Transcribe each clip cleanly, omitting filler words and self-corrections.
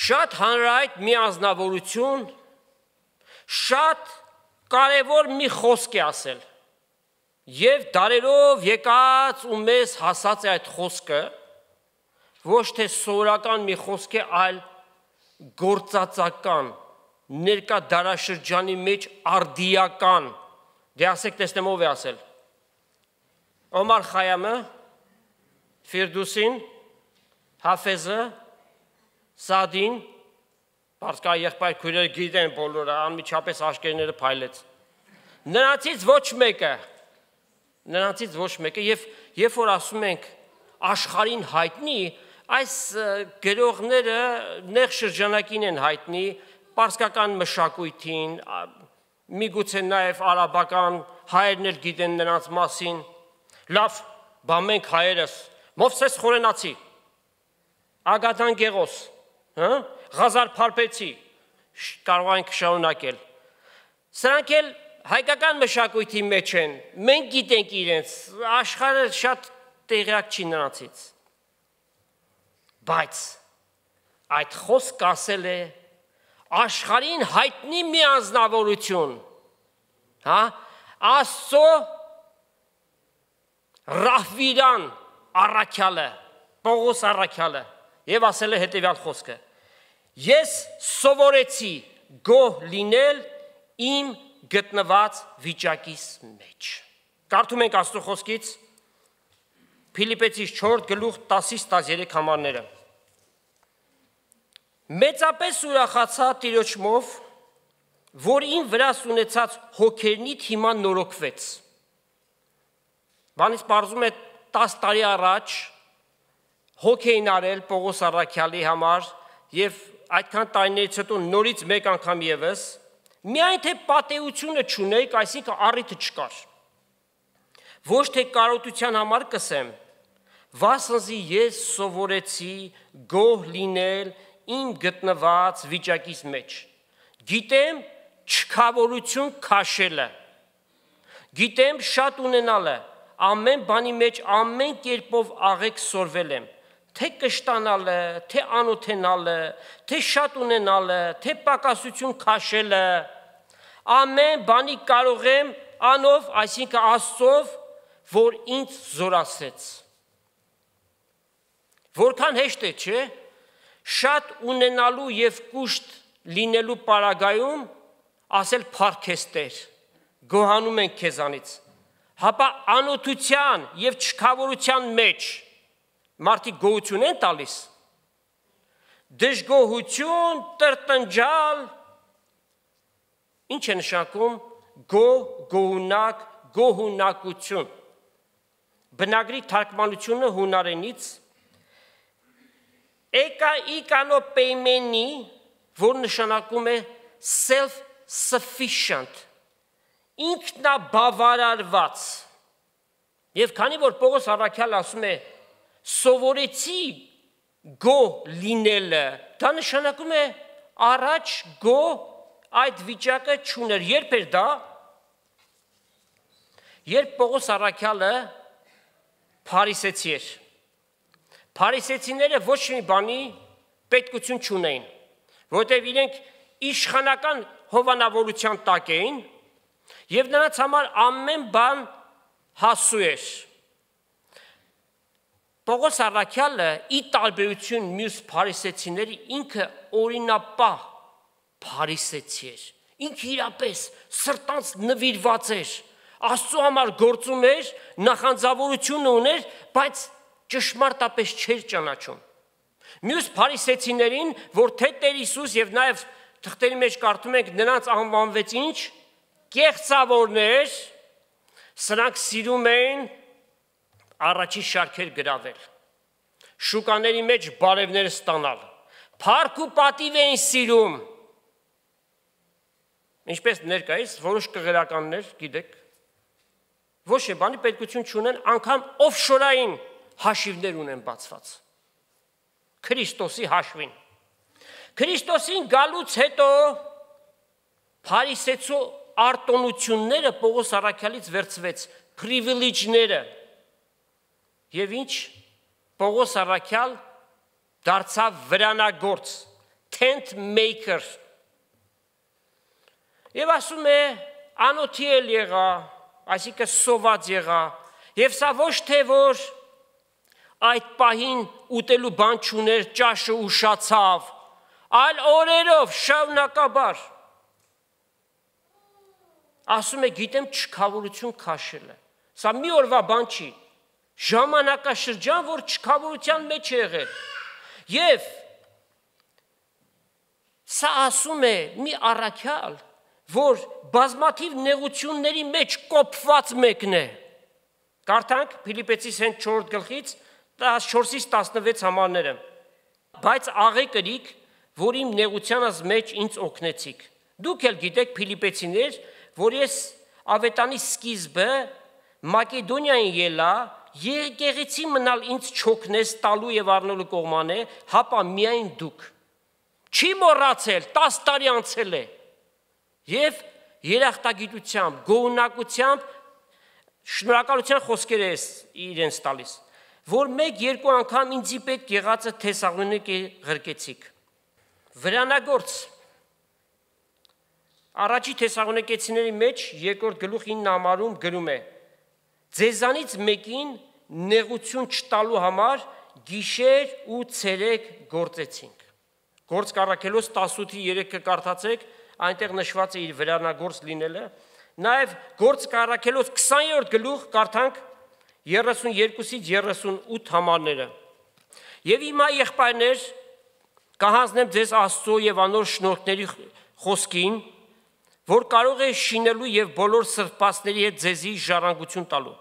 Շատ հանրայտ մի անձնավորություն, շատ կարևոր մի խոսք է ասել, և դարերով եկած ու մեզ հասած է այդ խոսքը, ոչ թե սովորական մի խոսք է, այլ գործածական, ներկա դարաշրջանի մեջ արդիական, դե ասեք տեսնեմ ով է ասել, Օմար Խայամը, Ֆիրդուսին, Հաֆեզը, Սադին, պարսկա եղբայր քույրերը գիտեն բոլորը, անմիջապես աշկերտները փայլեց, նրանցից ոչ մեկը, և որ ասում ենք աշխարհին հայտնի, այս գրողները նեղ շրջանակին են հայտնի, պարսկական մշակույթին, միգուցե նաև արաբական հայերն էլ գիտեն նրանց մասին, լավ, բա մենք հայերս, Մովսես Խորենացի, Ագաթան Գեղոս, Ղազար Փարպեցի, կարող ենք շարունակել, սրանք էլ հայկական մշակույթի մեջ են, մենք գիտենք իրենց, աշխարհը շատ տեղյակ չի նրանցից, բայց այդ խոսք ասել է աշխարհին հայտնի մի անձնավորություն, Աստծո Ռահվիրան առաքյալը, Պողոս առաքյալը, և ասել է հետևյալ խոսքը. Ես սովորեցի գոհ լինել իմ գտնված վիճակիս մեջ։ Կարդում ենք Աստծո խոսքից Փիլիպպեցիս 4:10-13 համարները։ Մեծապես ուրախացա Տիրոջմով, որ իմ վրաս ունեցած հոգերնիդ հիմա նորոգվեց։ Բանից պարզում է 10 տարի առաջ հոգ էին արել Պողոս առաքյալի համար և այդքան տարիներից հետո նորից մեկ անգամ ևս, միայն թե պատեությունը չունեիք, այսինքն առիթը չկար։ Ոչ թե կարոտության համար կսեմ, վասնզի ես սովորեցի գոհ լինել իմ գտնված վիճակիս մեջ։ Գիտեմ չքավորություն քաշելը, գիտեմ շատ ունենալը, ամեն բանի մեջ ամեն կերպով աղեկ սորվել եմ, թե կշտանալը, թե անօթենալը, թե շատ ունենալը, թե պակասություն քաշելը, ամեն բանի կարող եմ անով, այսինքն Աստծով, որ ինձ զորացրեց։ Որքան հեշտ է, չէ՞, շատ ունենալու և կուշտ լինելու պարագայում ասել փառքես Տեր, գոհանում ենք քեզանից, հապա անօթության և չքավորության մեջ մարդիկ գոհություն են տալիս, դժգոհություն, տրտնջալ, ինչ է նշանակում գոհ, գոհունակ, գոհունակություն։ Բնագրի թարգմանությունը հունարենից էկաիկանոպեյմենի, որ նշանակում է self-sufficient, ինքնաբավարարված, և քանի որ Պողոս առաքյալը ասում է սովորեցի գոհ լինելը, դա նշանակում է առաջ գոհ այդ վիճակը չուներ, երբ էր դա, երբ Պողոս առաքյալը փարիսեցի էր, փարիսեցիները ոչ մի բանի պետքություն չունեին, որտեղ իրենք իշխանական հովանավորության տակ էին, և նրանց համար ամեն բան հասու էր։ Պողոս առաքյալը ի տարբերություն մյուս փարիսեցիների ինքը օրինապահ փարիսեցի էր, ինքը իրապես սրտանց նվիրված էր, Աստծո համար գործում էր, նախանձավորություն ուներ, բայց ճշմարտապես չէր ճանաչում։ Մյուս փարիսեցիներին, որ թե Տեր Հիսուս և նաև թղթերի մեջ կարդում ենք նրանց անվանվեց ինչ, կեղծավորներ, սրանք սիրում էին առաջի շարքեր գրավել, շուկաների մեջ բարևներ ստանալ, փառք ու պատիվ էին սիրում, ինչպես ներկայիս որոշ կղերականներ, գիտեք, ոչ է բանի պետքություն չունեն, անգամ օֆշորային հաշիվներ ունեն բացված, Քրիստոսի հաշվին։ Քրիստոսին գալուց հետո փարիսեցու արտոնությունները Պողոս առաքյալից վերցվեց, պրիվիլեջները, և ինչ, Պողոս առաքյալ դարձավ վրանագործ, tent maker։ Եվ ասում է, անոթի էլ եղա, այսինքն սոված եղա, եւ սա ոչ թե որ այդ պահին ուտելու բան չուներ, ճաշը ուշացավ, այլ օրերով շարունակաբար։ Ասում է, գիտեմ չքավորություն քաշել է։ Սա մի օրվա բան չի, ժամանակաշրջան, որ չքավորության մեջ է եղել։ Եվ սա ասում է մի առաքյալ, որ բազմաթիվ նեղությունների մեջ կոփված մեկն է։ Կարդանք Փիլիպպեցիս 4 գլխից 14-ից 16 համարները։ Բայց աղե կրիք, որ իմ նեղությանս մեջ ինձ օգնեցիք։ Դուք էլ գիտեք Փիլիպպեցիներ, որ ես ավետանի սկիզբը Մակեդոնիային ելա, եկեղեցի մնալ ինձ չօգնես տալու եւ առնելու կողմանե, հապա միայն դուք։ Չի մոռացել, 10 տարի անցել է։ Եվ երախտագիտությամբ, գոհունակությամբ շնորհակալության խոսքեր է իրենց տալիս, որ 1-2 անգամ ինձի պետք եղածը Թեսաղոնիկի ղրկեցիք։ Վրանագործ Առաջի Թեսաղոնիկեցիների մեջ 2-րդ գլուխ 9 համարում գրում է. Ձեզանից մեկին նեղություն չտալու համար գիշեր ու ցերեկ գործեցինք։ Գործ կառաքելոց 18-3 կկարդացեք, այնտեղ նշված է իր վրանագործ լինելը, նաև գործ կառաքելոց 20-րդ գլուխ կարդանք 32-ից 38 համարները։ Եվ հիմա եղբայրներ, կհանձնեմ ձեզ Աստծո եւ անոր շնորհքների խոսքին, որ կարող է շինելու եւ բոլոր սրբվածների հետ ձեզի ժառանգություն տալու։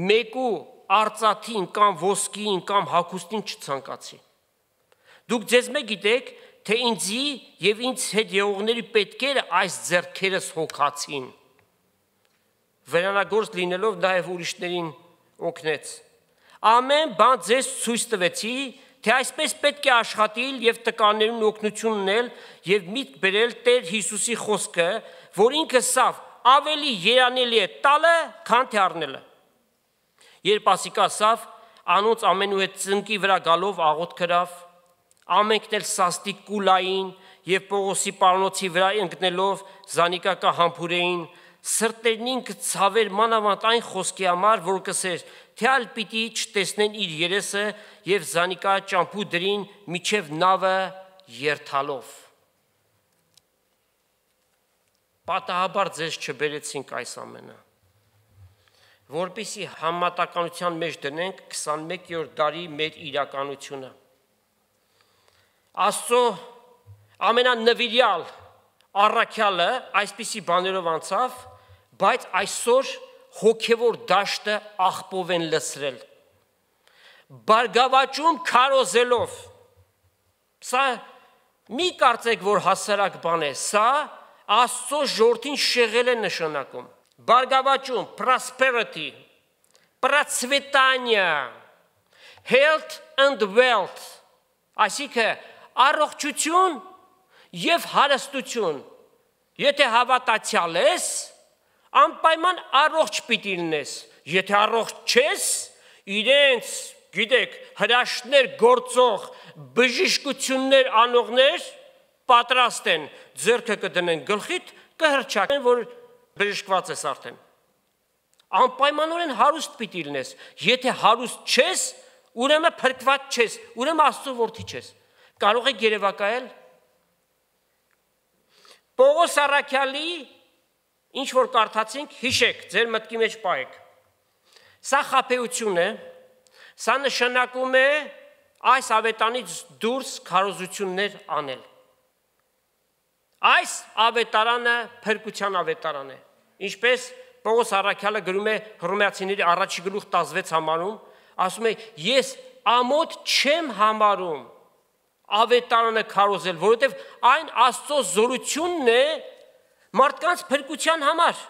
Մեկու արծաթին կամ ոսկին կամ հագուստին չցանկացի։ Դուք ձեզ մեկ գիտեք, թե ինձի եւ ինձ հետ եղողների պետքերը այս ձեռքերս հոգացին։ Վրանագործ լինելով նաեւ ուրիշներին օգնեց։ Ամեն բան ձեզ ցույց տվեցի, թե այսպես պետք է աշխատել եւ տկաներուն օգնություն ունել եւ միտք բերել Տեր Հիսուսի խոսքը, որ ինքը սավ ավելի երանելի է տալը, քան թե առնելը։ Երբ ասիկա սավ անոնց ամենու հետ ծնկի վրա գալով աղոտ կրավ, ամենքն էլ սաստիկ կուլային եւ Պողոսի պարանոցի վրա ընկնելով զանիկակա համբուրեին, սրտերնին կցավեր մանավանդ այն խոսքի համար, որ կսեր, թե ալ պիտի չտեսնեն իր երեսը եւ զանիկա ճամփու դրին միջև նավը երթալով։ Պատահաբար ձեզ չբերեցինք այս ամենը, որպեսզի համատականության մեջ դնենք 21-րդ դարի մեր իրականությունը։ Աստծո ամենանվիրյալ առաքյալը այսպիսի բաներով անցավ, բայց այսօր հոգևոր դաշտը աղբով են լցրել, բարգավաճում քարոզելով։ Սա մի կարծեք, որ հասարակ բան է, սա Աստծո ժողովրդին շեղել է նշանակում։ Բարգավաճում, prosperity, процветание, health and wealth, այսինքն առողջություն եւ հարստություն։ Եթե հավատացյալ ես, անպայման առողջ պիտի լինես։ Եթե առողջ չես, իրենց, գիտեք, հրաշքներ գործող, բժշկություններ անողներ պատրաստ են, ձեռքը կդնեն գլխիդ, կհրճակեն, որ բժշկված ես արդեն։ Անպայմանորեն հարուստ պիտի լինես։ Եթե հարուստ չես, ուրեմն փրկված չես, ուրեմն Աստծո որդի չես։ Կարող եք երևակայել Պողոս առաքյալի ինչ որ կարդացինք, հիշեք, ձեր մտքի մեջ պահեք։ Սա խաբեություն է, սա նշանակում է այս ավետանից դուրս քարոզություններ անել։ Այս ավետարանը փրկության ավետարան է։ Ինչպես Պողոս առաքյալը գրում է Հռոմեացիների առաջի գլուխ 16 համարում, ասում է, ես ամոթ չեմ համարում ավետարանը քարոզել, որովհետև այն Աստծո զորությունն է մարդկանց փրկության համար։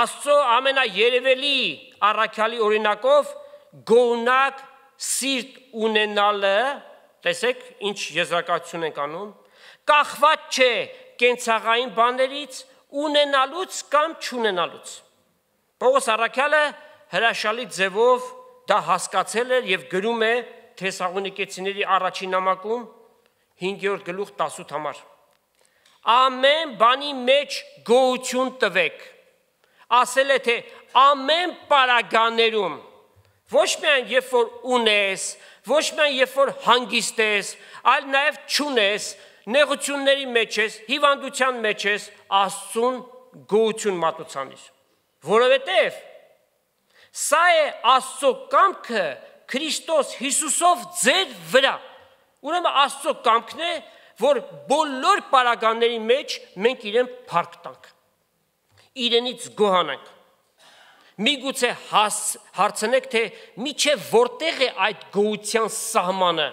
Աստծո ամենաերևելի առաքյալի օրինակով գոհնակ սիրտ ունենալը, տեսեք, ինչ եզրակացություն ենք անում, կախված չէ կենցաղային բաներից, ունենալուց կամ չունենալուց։ Պողոս առաքյալը հրաշալի ձևով դա հասկացել էր եւ գրում է Թեսաղոնիկեցիների առաջին նամակում 5-րդ գլուխ 18 համար։ Ամեն բանի մեջ գոհություն տվեք։ Ասել է թե ամեն պարագաներում, ոչ միայն երբ որ ունես, ոչ միայն երբ որ հանգիստ ես, այլ նաև չունես, նեղությունների մեջ ես, հիվանդության մեջ ես, Աստծուն գոհություն մատուցանիր։ Որովհետև սա է Աստծո կամքը Քրիստոս Հիսուսով ձեր վրա։ Ուրեմն Աստծո կամքն է, որ բոլոր պարագաների մեջ մենք իրեն փառք տանք, իրենից գոհանանք։ Միգուցե հարցնեք, թե միչև որտեղ է այդ գոհության սահմանը։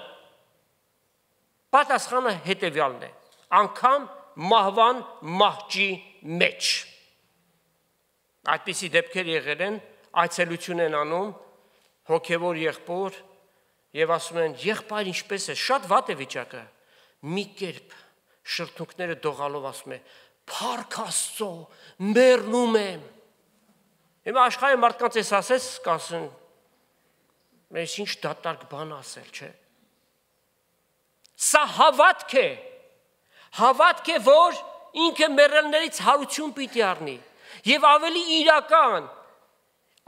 Պատասխանը հետևյալն է. անգամ մահվան մահճի մեջ։ Այդպիսի դեպքեր եղել են, այցելություն են անում հոգևոր եղբոր եւ ասում են, եղբայր ինչպես է, շատ վատ է վիճակը։ Մի կերպ շրթունքները դողալով ասում է, փառք Աստծո, մեռնում եմ։ Հիմա աշխարհի մարդկանց էս ասես, կասեն, մեզ ինչ դատարկ բան ասել, չէ։ Սա հավատք է, որ ինքը մեռելներից հարություն պիտի առնի եւ ավելի իրական,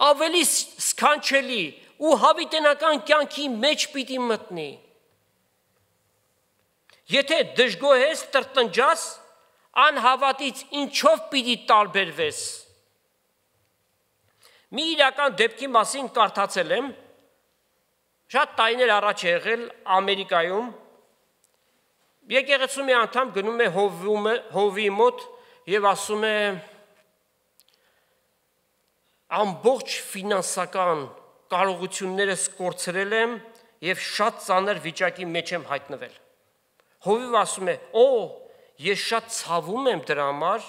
ավելի սքանչելի ու հավիտենական կյանքի մեջ պիտի մտնի։ Եթե դժգոհ ես, տրտնջաս, անհավատից ինչով պիտի տարբերվես։ Մի իրական դեպքի մասին կարդացել եմ, շատ տարիներ առաջ է եղել Ամերիկայում, եկեղեցու մի անդամ գնում է հովի մոտ եւ ասում է ամբողջ ֆինանսական կարողություններս կորցրել եմ եւ շատ ծանր վիճակի մեջ եմ հայտնվել։ Հովիվը ասում է, ես շատ ցավում եմ դրա համար,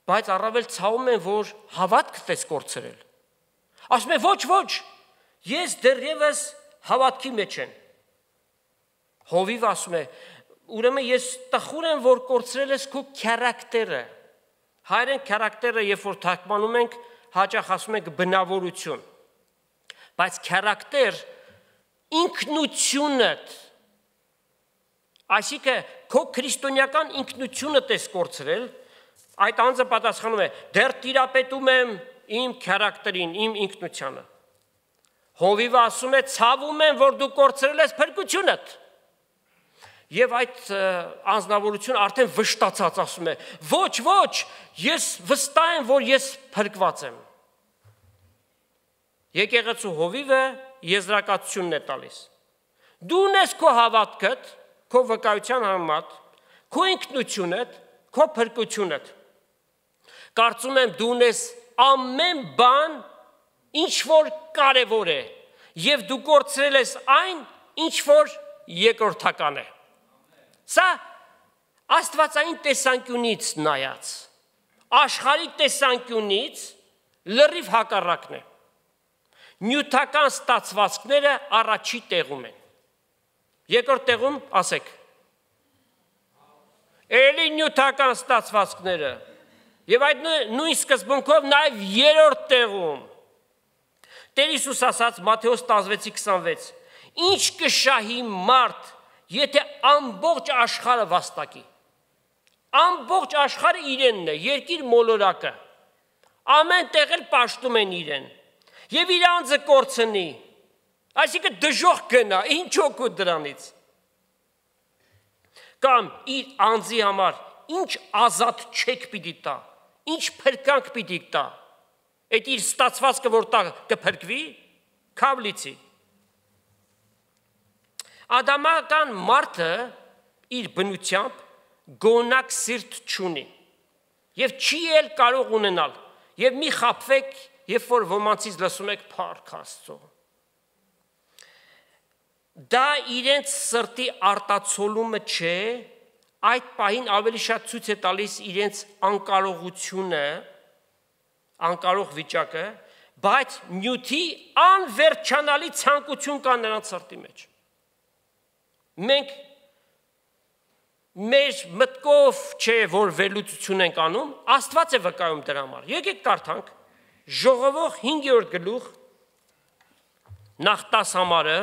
բայց առավել ցավում եմ, որ հավատքդ ես կորցրել։ Ասում է, ոչ, ես դեռևս հավատքի մեջ եմ։ Հովիվը ասում է, ուրեմն ես տխուր եմ, որ կորցրել ես քո քարակտերը։ Հայերեն քարակտերը, երբ որ թարգմանում ենք, հաճախ ասում ենք բնավորություն։ Բայց քարակտեր ինքնությունդ, այսինքն քո քրիստոնեական ինքնությունդ ես կորցրել, այդ անձը պատասխանում է, դեռ տիրապետում եմ իմ քարակտերին, իմ ինքնությանը։ Հովիվը ասում է, ցավում եմ, որ դու կորցրել ես փրկությունդ։ Եվ այդ անձնավորությունը արդեն վշտացած ասում է, ոչ, ես վստահ եմ, որ ես փրկված եմ։ Եկեղեցու հովիվը եզրակացությունն է տալիս։ Դու ունես քո հավատքդ, քո վկայության համեմատ, քո ինքնությունդ, քո փրկությունդ։ Կարծում եմ դու ունես ամեն բան, ինչ որ կարևոր է, եւ դու կորցրել ես այն, ինչ որ երկրորդական է։ Սա աստվածային տեսանկյունից նայած, աշխարհի տեսանկյունից լրիվ հակառակն է։ Նյութական ստացվածքները առաջի տեղում են։ Երկրորդ տեղում ասեք։ Էլի նյութական ստացվածքները։ Եվ այդ նույն սկզբունքով նաև երրորդ տեղում։ Տեր Հիսուս ասաց Մատթեոս 16:26. Ինչ կշահի մարդ, եթե ամբողջ աշխարհը վաստակի։ Ամբողջ աշխարհը իրենն է, երկիր մոլորակը։ Ամեն տեղ էլ պաշտում են իրեն։ Եվ իր անձը կորցնի։ Այսինքն դժոխք գնա, ինչ օգուտ դրանից։ Կամ իր անձի համար ինչ ազատ չեք պիտի տա, ինչ փրկանք պիտի տա։ Այդ իր ստացվածքը որ տա կփրկվի, քավլիցի։ Ադամական մարդը իր բնությամբ գոնակ սիրտ չունի եւ չի էլ կարող ունենալ։ Եվ մի խաբվեք, երբ որ ոմանցից լսում եք փառք Աստծո։ Դա իրենց սրտի արտացոլումը չէ, այդ պահին ավելի շատ ցույց է տալիս իրենց անկարողությունը, անկարող վիճակը, բայց նյութի անվերջանալի ցանկություն կա նրանց սրտի մեջ։ Մենք մեր մտքով չէ, որ վերլուծություն ենք անում, Աստված է վկայում դրա համար։ Եկեք կարդանք Ժողովող 5-րդ գլուխ նախ 10 համարը,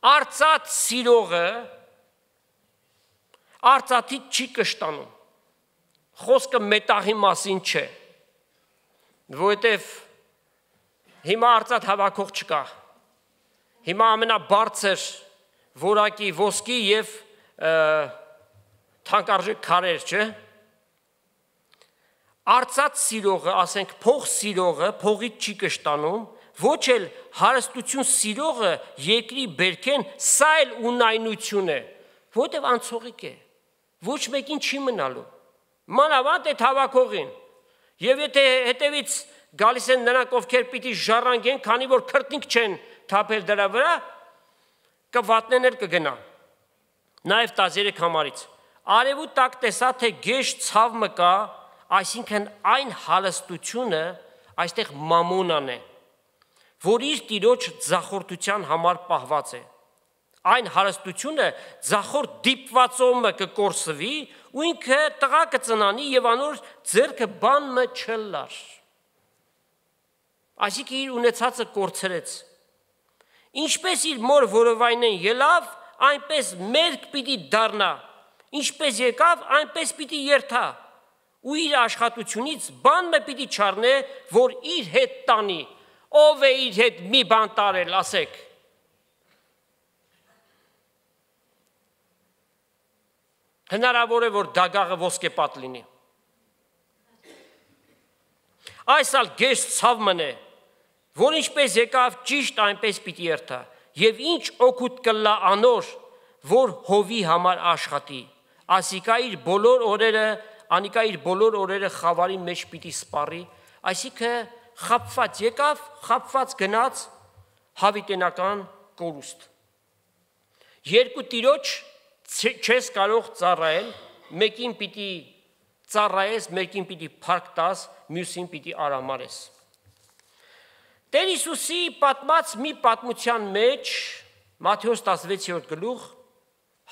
Արծաթ սիրողը արծաթից չի կշտանում։ Խոսքը մետաղի մասին չէ, որովհետև հիմա արծաթ հավաքող չկա։ Հիմա ամենաբարձր որակի ոսկի եւ թանկարժեք քարեր, չէ։ Արծաթ սիրողը, ասենք փող սիրողը փողից չի կշտանում, ոչ էլ հարստություն սիրողը երկրի բերքեն, սա էլ ունայնություն է, որտեղ անցողիկ է, ոչ մեկին չի մնալու, մանավանդ այդ հավաքողին, եւ եթե հետևից գալիս են նրանք, ովքեր պիտի ժառանգեն, քանի որ քրտնիկ չեն թափել դրա վրա, կվատնեն էլ կգնա։ Նաեւ 13 համարից արևու տակ տեսա, թե գեշ ցավ մկա, այսինքն այն հալստությունը, այստեղ մամոնան է, որ իր տիրոջ ձախորդության համար պահված է։ Այն հարստությունը ձախորդ դիպվածոմը կկորսվի ու ինքը տղա կծնանի եւ անոր ձեռքը բան մը չլար։ Այսինքն իր ունեցածը կորցրեց։ Ինչպես իր մոր որովայնեն ելավ, այնպես մերկ պիտի դառնա, ինչպես եկավ, այնպես պիտի երթա, ու իր աշխատությունից բան մը պիտի չառնե, որ իր հետ տանի։ Ով է իր հետ մի բան տարել, ասեք։ Հնարավոր է, որ դագաղը ոսկեպատ լինի։ Այս ալ գեշ ցավ մնե, որ ինչպես եկավ ճիշտ այնպես պիտի երթա, եւ ինչ օգուտ կլա անոր, որ հովի համար աշխատի, ասիկա իր բոլոր օրերը խավարի մեջ պիտի սպառի, այսինքն խապված եկավ, խապված գնաց, հավիտենական կորուստ։ Երկու տիրոջ չես կարող ծառայել, մեկին պիտի ծառայես, մեկին պիտի փառք տաս, մյուսին պիտի արամարես։ Տեր Հիսուսի պատմած մի պատմության մեջ, Մատթեոս 16-րդ գլուխ,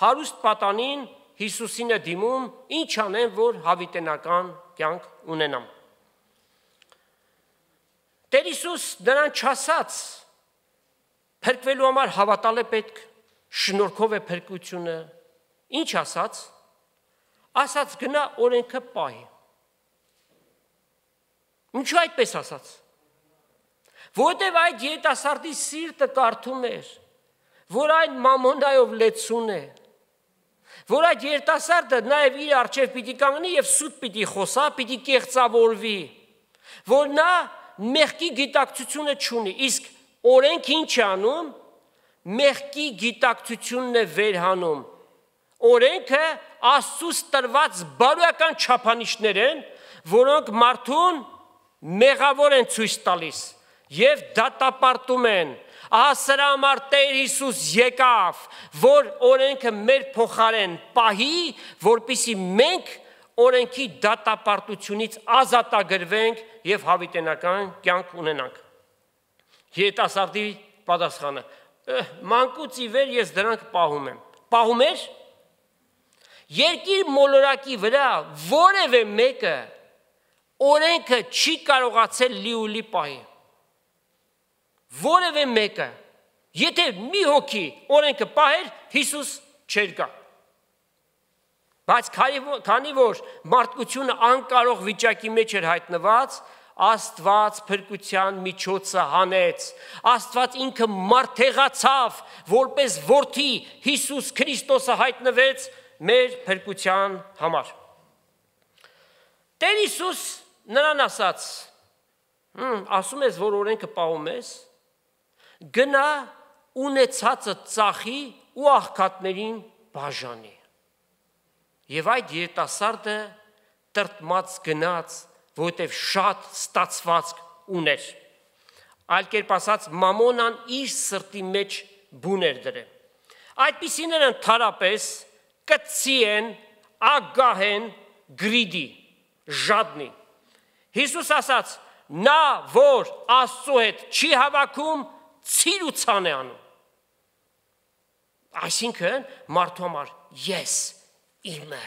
հարուստ պատանին Հիսուսին է դիմում, ինչ անեմ, որ հավիտենական կյանք ունենամ։ Տեր Հիսուս նրան չասաց, փրկվելու համար հավատալ է պետք, շնորհքով է փրկությունը, ինչ ասաց, ասաց գնա օրենքը պահի։ Ինչու այդպես ասաց։ Որտեւ այդ երիտասարդի սիրտը կարդում էր, որ այն մամոնայով լեցուն է, որ այդ երիտասարդը նաև իր առջև պիտի կանգնի եւ սուտ պիտի խոսա, պիտի կեղծավորվի, որ նա մեղքի գիտակցությունը չունի, իսկ օրենք ինչ է անում, մեղքի գիտակցությունն է վերհանում։ Օրենքը Աստծուց տրված բարոյական չափանիշներ են, որոնք մարդուն մեղավոր են ցույց տալիս եւ դատապարտում են։ Ահա սրա համար Տեր Հիսուս եկավ, որ օրենքը մեր փոխարեն պահի, որպեսզի մենք օրենքի դատապարտությունից ազատագրվենք եւ հավիտենական կյանք ունենանք։ Երիտասարդի պատասխանը. մանկուց ի վեր ես դրանք պահում եմ։ Պահում ես։ Երկիր մոլորակի վրա որևէ մեկը օրենքը չի կարողացել լիուլի պահի։ Որևէ մեկը, եթե մի հոգի օրենքը պահեր, Հիսուս չէր գա։ Բայց քանի որ մարդկությունը անկարող վիճակի մեջ էր հայտնված, Աստված փրկության միջոցը հանեց, Աստված ինքը մարդեղացավ, որպես որդի Հիսուս Քրիստոսը հայտնվեց մեր փրկության համար։ Տեր Հիսուս նրան ասաց, ասում ես, որ օրենքը պահում ես, գնա ունեցածը ծախի ու աղքատներին բաժանի։ Եվ այդ երիտասարդը տրտմած գնաց, որտև շատ ստացվածք ուներ։ Այլ կերպ ասած, մամոնան իր սրտի մեջ բուն էր դրել։ Այդպիսիները ընդհանրապես կծի են, ագահ են, գրիդի, ժադնի։ Հիսուս ասաց, նա, որ Աստծո հետ չի հավաքում, ցիրուցան է անում։ Այսինքն մարդու համար ես իմը։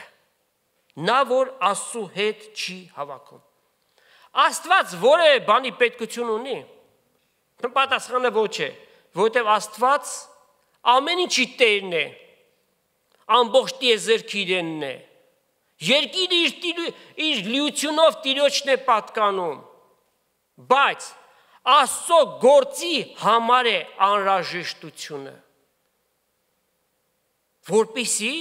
Նա, որ Աստծո հետ չի հավաքում։ Աստված որևէ բանի պետքություն ունի։ Պատասխանը ոչ է, որովհետև Աստված ամեն ինչի տերն է, ամբողջ տիեզերքի իրենն է, երկիրը իր լիությունով Տիրոջն է պատկանում, բայց Աստծո գործի համար է անհրաժեշտությունը, որպեսզի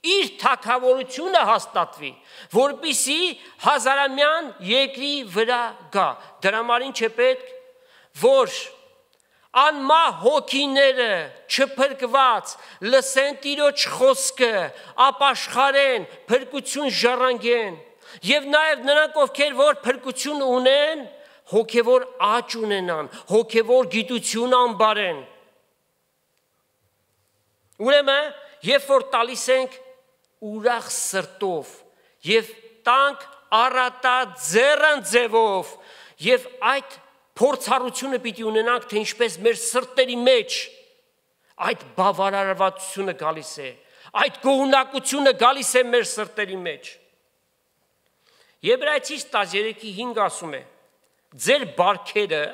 իր թագավորությունը հաստատվի, որպեսզի հազարամյան երկրի վրա գա, դրա համար ինչ է պետք, որ անմահ հոգիները չփրկված լսեն Տիրոջ խոսքը, ապաշխարեն, փրկություն ժառանգեն, եւ նաեւ նրանք, ովքեր որ փրկություն ունեն, հոգևոր աճ ունենան, հոգևոր գիտություն անբարեն։ Ուրեմն, երբ որ տալիս ենք ուրախ սրտով եւ տանք առատաձեռն ձևով եւ այդ փորձառությունը պիտի ունենանք, թե ինչպես մեր սրտերի մեջ այդ բավարարվածությունը գալիս է, այդ գոհունակությունը գալիս է մեր սրտերի մեջ։ Եբրայեցիս 13:5 ասում է. ձեր բարքերը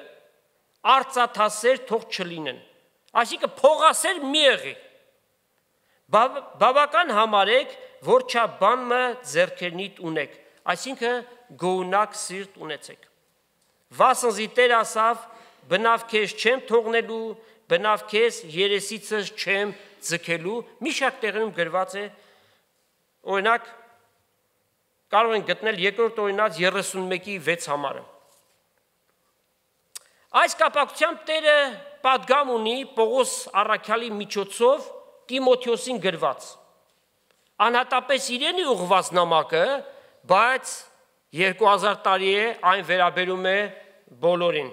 արծաթասեր թող չլինեն, այսինքն փողասեր մի եղի, բավական համարեք, որ չաբանը ձեռքերնիդ ունեք, այսինքն գոհունակ սիրտ ունեցեք։ Վասնզի Տեր ասավ, բնավ քեզ չեմ թողնելու, բնավ քեզ երեսիցս չեմ ձգելու, մի շարք տեղերում գրված է, օրինակ, կարող են գտնել երկրորդ օրինաց 31:6 համարը։ Այս կապակցությամբ Տերը պատգամ ունի Պողոս առաքյալի միջոցով Տիմոթեոսին գրված։ Անհատապես իրեն է ուղղված նամակը, բայց 2000 տարի է այն վերաբերում է բոլորին։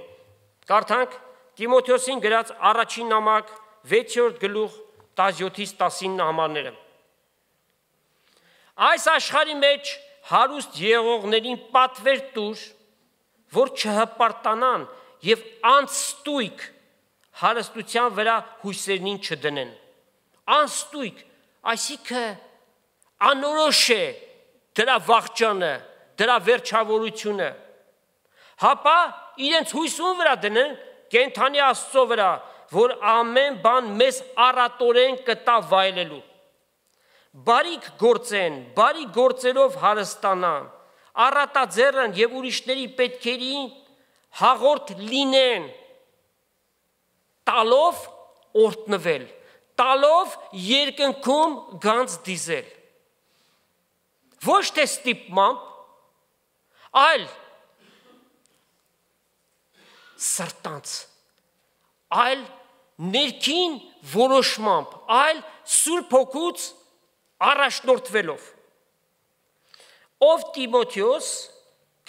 Կարդանք Տիմոթեոսին գրած առաջին նամակ 6-րդ գլուխ 17-19 համարները։ Այս աշխարհի մեջ հարուստ եղողներին պատվեր տուր, որ չհպարտանան եւ անստույգ հարստության վրա հույսերին չդնեն։ Անստույգ, այսինքն անորոշ է դրա վախճանը, դրա վերջավորությունը։ Հապա իրենց հույսուն վրա դնեն կենթանի Աստծո վրա, որ ամեն բան մեզ առատորեն կտա վայելելու։ Բարիք գործեն, բարի գործերով հարստանան, առատաձեռն եւ ուրիշների պետքերին հաղորդ լինեն, տալով օրտնվել, տալով երկնքում գանձ դիզել։ Ոչ թե ստիպմամբ, այլ սրտանց, այլ ներքին որոշմամբ, այլ Սուրբ Հոգուց առաջնորդվելով։ Ով Տիմոթեոս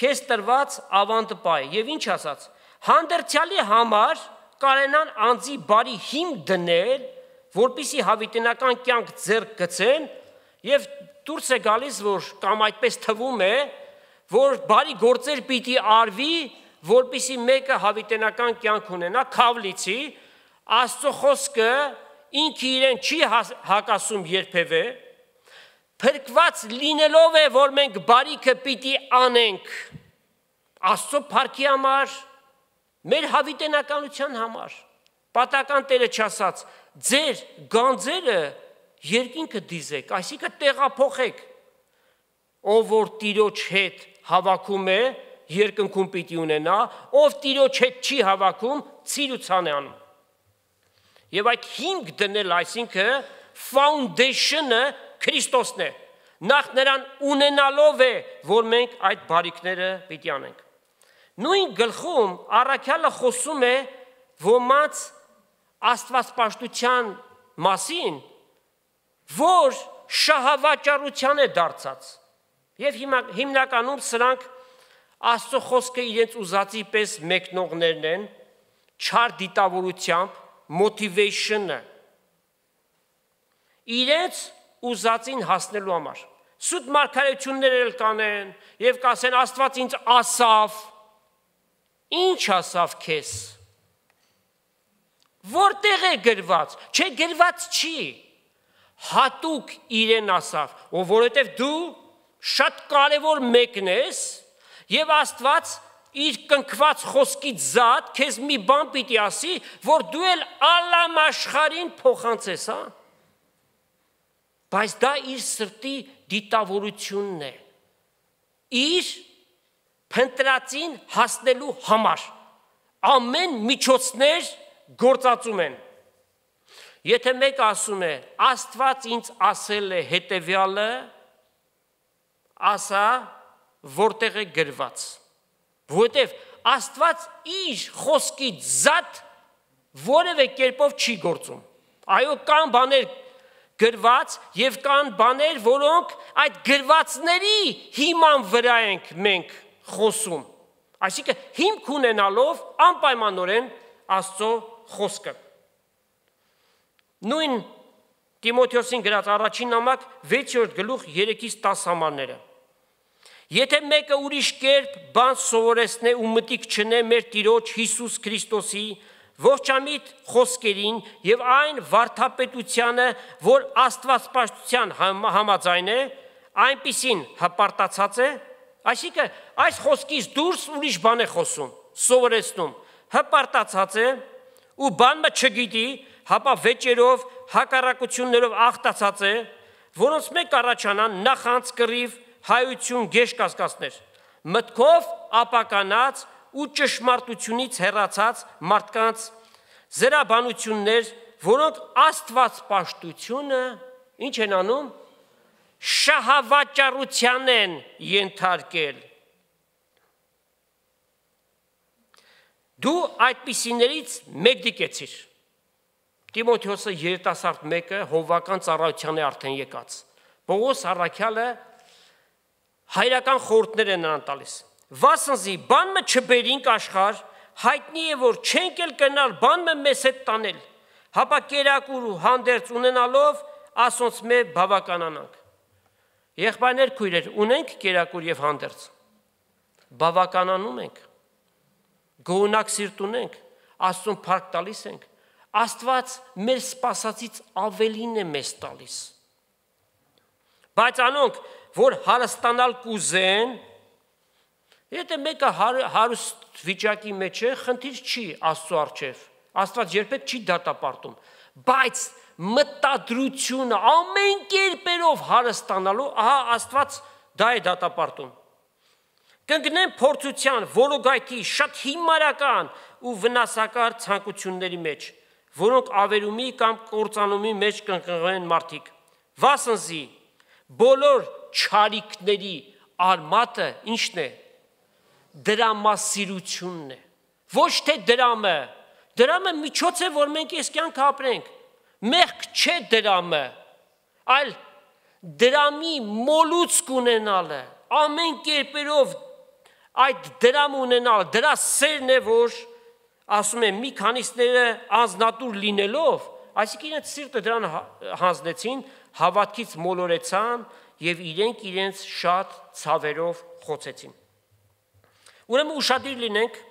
քեզ տրված ավանդպայ եւ ինչ ասաց, հանդերձյալի համար կարենան անձի բարի հիմք դնել, որպիսի հավիտենական կյանք ձեռք գցեն եւ դուրս է գալիս, որ կամ այդպես թվում է, որ բարի գործեր պիտի արվի, որպիսի մեկը հավիտենական կյանք ունենա, քավլիցի, Աստծո խոսքը ինքը իրեն չի հակասում երբևէ, փրկված լինելով է, որ մենք բարիքը պիտի անենք Աստծո փառքի համար, մեր հավիտենականության համար։ Պատական Տերը չասաց, ձեր գանձերը երկինքը դիզեք, այսինքն տեղափոխեք, ով որ Տիրոջ հետ հավաքում է, երկնքում պիտի ունենա, ով Տիրոջ հետ չի հավաքում, ցիրուցան է անում։ Եվ այդ հիմք դնել, այսինքն foundation-ը Քրիստոսն է, նախ նրան ունենալով է, որ մենք այդ բարիքները պիտի անենք։ Նույն գլխում առաքյալը խոսում է ոմանց աստվածպաշտության մասին, որ շահավաճառության է դարձած։ Եվ հիմնականում սրանք Աստծո խոսքը իրենց ուզածի պես մեկնողներն են, չար դիտավորությամբ, motivation-ը, իրենց ուզածին հասնելու համար։ Սուտ մարգարեություններ էլ կանեն եւ կասեն Աստված ինձ ասավ, ինչ ասավ քեզ։ Որտեղ է գրված, չէ գրված չի, հատուկ իրեն ասավ, որովհետև դու շատ կարևոր մեկն ես եւ Աստված իր կնքված խոսքից զատ քեզ մի բան պիտի ասի, որ դու էլ ալամ աշխարհին փոխանցես, հա։ Բայց դա իր սրտի դիտավորությունն է։ Իր փնտրածին հասնելու համար ամեն միջոցներ գործածում են։ Եթե մեկը ասում է, Աստված ինձ ասել է հետևյալը, ասա, որտեղ է գրված։ Որովհետև Աստված իր խոսքից զատ որևէ կերպով չի գործում։ Այո, կան բաներ գրված եւ կան բաներ, որոնք այդ գրվածների հիման վրա ենք մենք խոսում։ Այսինքն հիմք ունենալով անպայմանորեն Աստծո խոսքը։ Նույն Տիմոթեոսին գրած առաջին նամակ 6-րդ գլուխ 3-ից 10 համարները։ Եթե մեկը ուրիշ կերպ բան սովորեցնե ու մտիկ չնե մեր Տիրոջ Հիսուս Քրիստոսի ողջամիտ խոսքերին եւ այն վարդապետությանը, որ Աստվածպաշտության համաձայն է, այնպիսին հպարտացած է, այսինքն այս խոսքից դուրս ուրիշ բան է խոսում, սովորեցնում, հպարտացած է ու բանը չգիտի, հապա վեճերով, հակառակություններով աղտացած է, որոնց մեկ առաջանան նախանց կռիվ, հայություն գեշ կասկածներ, մտքով ապականած ու ճշմարտությունից հեռացած մարդկանց զրաբանություններ, որոնք Աստվածպաշտությունը ինչ են անում, շահավաճառության են ենթարկել։ Դու այդպիսիներից մեկ դիկեցիր։ Տիմոթեոսը երիտասարդ մեկը հովվական ծառայության է արդեն եկած։ Պողոս առաքյալը հայրական խորհուրդներ են նրան տալիս։ Վասնզի բանը չբերինք աշխարհ, հայտնի է որ չենք էլ կնալ բանը մեզ հետ տանել, հապա կերակուր ու հանդերձ ունենալով ասոնց մե բավականանանք։ Եղբայրներ, քույրեր, ունենք կերակուր եւ հանդերձ։ Բավականանում ենք։ Գոհնակ սիրտ ունենք, Աստծուն փառք տալիս ենք։ Աստված մեր սպասածից ավելին է մեզ տալիս։ Բայց անոնք, որ հարստանալ կուզեն, եթե մեկը հարուստ վիճակի մեջ է, խնդիր չի Աստծո առջև։ Աստված երբեք չի դատապարտում, բայց մտադրությունը ամեն կերպերով հարստանալու, ահա Աստված դա է դատապարտում։ Կընկնեն փորձության, որոգայթի, շատ հիմարական ու վնասակար ցանկությունների մեջ, որոնք ավերումի կամ կործանումի մեջ կընկնեն մարդիկ։ Վասնզի բոլոր չարիքների արմատը ինչն է, դրամասիրությունն է, ոչ թե դրամը, դրամը միջոց է, որ մենք այս կյանքը ապրենք, մեղք չէ դրամը, այլ դրամի մոլուցք ունենալը, ամեն կերպերով այդ դրամ ունենալը, դրա սերն է, որ ասում եմ մի քանիսները անznատուր լինելով, այսինքն իրենց սիրտը դրան հանձնեցին, հավատքից մոլորեցան եւ իրենց շատ ցավերով խոցեցին։ Ուրեմն ուշադիր լինենք,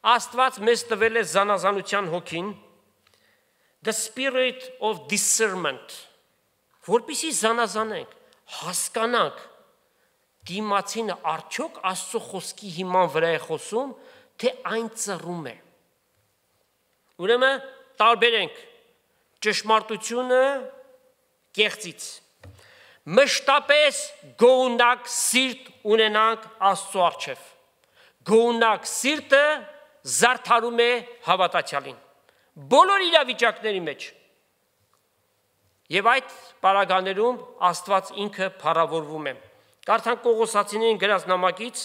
Աստված մեզ տվել է զանազանության հոգին, the spirit of discernment, որպեսզի զանազանենք, հասկանանք դիմացինը արդյոք Աստծո խոսքի հիման վրա է խոսում, թե այն ծռում է։ Ուրեմն տարբերենք ճշմարտությունը կեղծից։ Մշտապես գոհնակ սիրտ ունենանք Աստծո առջև։ Գոհնակ սիրտը զարդարում է հավատացյալին բոլոր իրավիճակների մեջ։ Եվ այդ պարագաներում Աստված ինքը փառավորվում է։ Կարդանք Կողոսացիներին գրած նամակից